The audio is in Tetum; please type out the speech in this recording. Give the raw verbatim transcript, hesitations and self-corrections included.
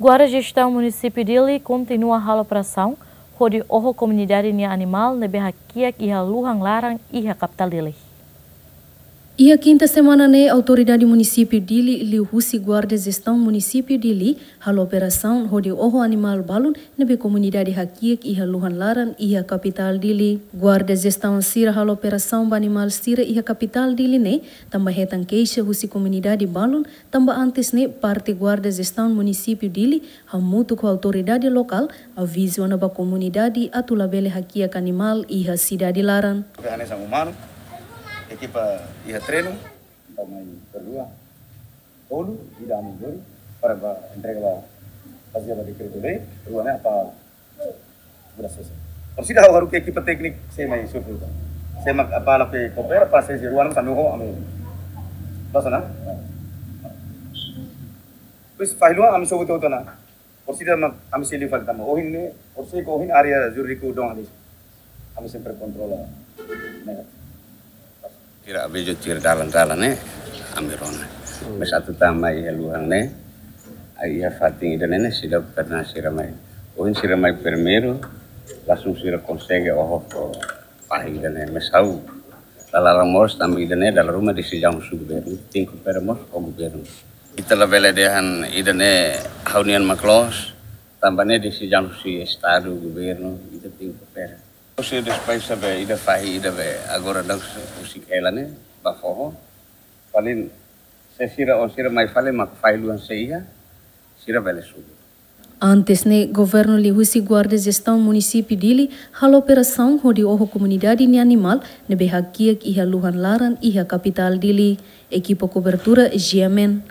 Guarda Jestaun Munisípiu Dili kontinua halo operasaun hodi oho komunidade nia animál ne'ebé hakiak iha luhan laran iha kapitál Dili. Iha kinta semana ne'e, Autoridade Munisípiu Dili liuhusi Guarda Jestaun Munisípiu Dili halo operasaun hodi oho animál balun ne'ebé komunidade hakiak iha luhan laran iha kapitál Dili. Guarda Jestaun sira halo operasaun ba animál sira iha kapitál Dili ne'e tanba hetan keixa husi komunidade balun, tanba antes ne'e parte Guarda Jestaun Munisípiu Dili hamutuk ho autoridade lokál avizu ona ba komunidade atu labele hakiak animál iha sidade laran. Hanesan umanu, ekipa iha treinu, entaun mai per dua, tolu, ida ami dori, para ba entrega ba, fazia ba dekretu lei, rua ne'e apa, muda sesa. Orsida ha'u haruka ekipa tékniku, sé mai survei. Sé mak apa la pe kopera, pas sé rua ne'e sanu ho ami. Basa na? Pois, faz lua, ami sobu teu tona. Orsida mak ami sei liu fali tanba ohin ne'e, orsida ko ohin área jurídiku dong halis. Ami sempre kontrola. Ne'e. Sira avizu tuir dalan-dalan ne'e, ami rona. Maibé atu tama iha luhan ne'e, iha fatin ida-ne'e ne'e seidauk pernah sira mai. Ohin sira mai primeiru, langsung sira konsege oho ho fahi ida-ne'e, maibé ha'u la laran mós tanba ida-ne'e dala ruma desizaun husi governu, tenke kopera mós ho governu. Ita labele dehan ida-ne'e ha'u-nian mak loos, tanba ne'e desizaun husi estadu, governu, ita tenke kopera. Husi despaisa be ida fahi ida be agora daudaun husi hela ne'e ba foho. Paling se sira oin sira mai fali mak fahi luhan sei iha, sira bele sobu. Antes ne'e, governu liuhusi Guarda Jestaun Munisípiu Dili halo operasaun hodi oho komunidade nia animál ne'ebé hakiak iha luhan laran iha kapitál Dili. Ekipa kobertura G M N.